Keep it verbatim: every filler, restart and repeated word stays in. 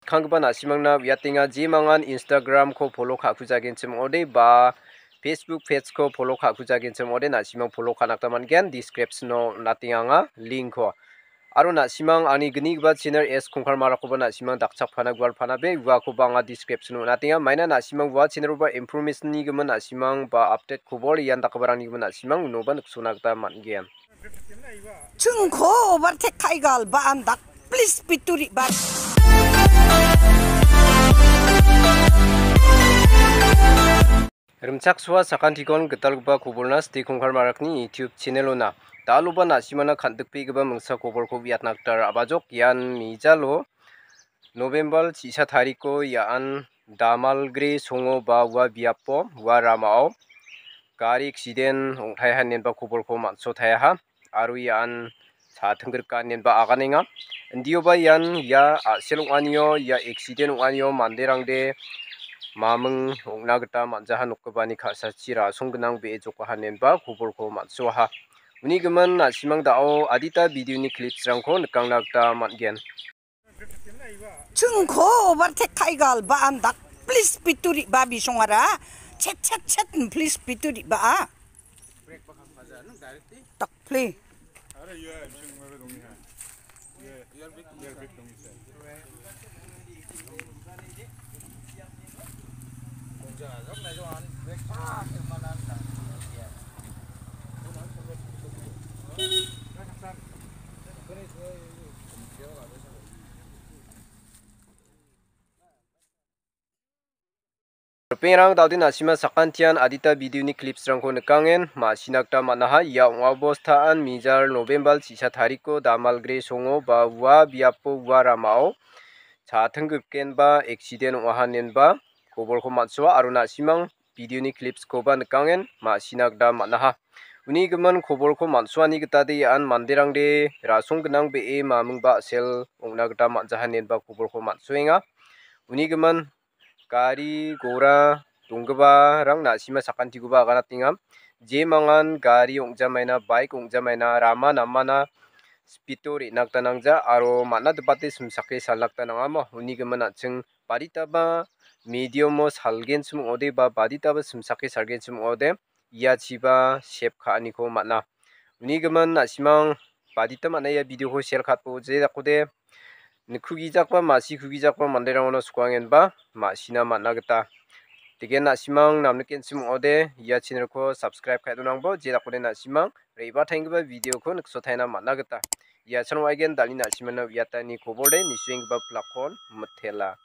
skanggipa na·simangna uiatenga, jemangan Instagram-ko follow ka·kujagenchim ong·ode ba Facebook page-ko follow ka·kujagenchim ong·ode, na·simang follow ka·na gita man·gen, description-o on·atenga anga link-ko. Aro na·simang angni gnigipa channel S Kongkar Marakoba na·simang dakchakpana gualpana be uakoba anga description-o on·atenga. Maina na·simang ua channel-oba information-nigimin na·simang ba update kobor ian dakgiparangnigimin na·simang unoba niksona gita man·gen. Chungko overtake kaigal ba andak, please pituri ba. Rimchaksoa sakantikon gitalgipa koborna Sri Kongkar Marakni YouTube channel-ona. Daloba na·simana kan·dikbegipa mingsa koborko uiatna gita ra·bajok. Ian mijalo November chisa tariko ian Damalgre songo ba ua biapo, ua ramao gari aksiden ong·taiha inenba koborko man·sotaiaha. Aro ian cha·tingrika inenba aganenga. Indioba ian ia a·sel ong·anio, ia aksiden ong·anio manderangde maming ong·na gita man·jaha nokgipani ka·sachi rasong gnang be·e jokbaha inenba koborko man·soaha. Uni gimin na·simang da·o adita video-ni clips-rangko nikangna gita man·gen. Chungko overtake kaigal ba andak, please pituri ba bisongara. Chet, chet, chet, please pituri ba. Tak play. Ripengrang, da·ode na·sima sakantian adita video-ni clips-rangko nikangen, ma·sina gita man·aha. Ia ong·a bostaan mijal November chisa tariko Damalgre songo ba ua biapo ua ramao cha·tingrikgenba aksiden ong·aha inenba koborko man·soa aro na·simang video-ni clips-koba nikangen ma·sina gita man·aha. Uni gimin koborko man·soani gitade ian manderangde rasong gnang be·e mamingba a·sel ong·na gita man·jaha inenba koborko man·soenga. Uni gimin gari, gora donggiparang na·sima sakantikoba aganatenga. Jemangan gari ong·jamaina, bike ong·jamaina, rama namana speed-o re·na gita nangja aro man·a dipate simsake salna gita nangamo. Uni gimin an·ching baditaba medium-o salgenchim ong·ode ba baditaba simsake salgenchim ong·ode, ia chiba sep ka·aniko man·a. Uni gimin na·simang badita man·a ia video-ko share ka·atbo je dakode nikkugijakba, ma·sikugijakba manderangono skoangenba ma·sina man·a gita. Degen na·simang namnikenchim ong·ode ia channel-ko subscribe ka·e donangbo je dakode na·simang re·bataenggipa video-ko niksotaina man·a gita. Ia channel-o aigen dal·e na·simana uiatani kobor de nisuenggipa plak-kon mitela.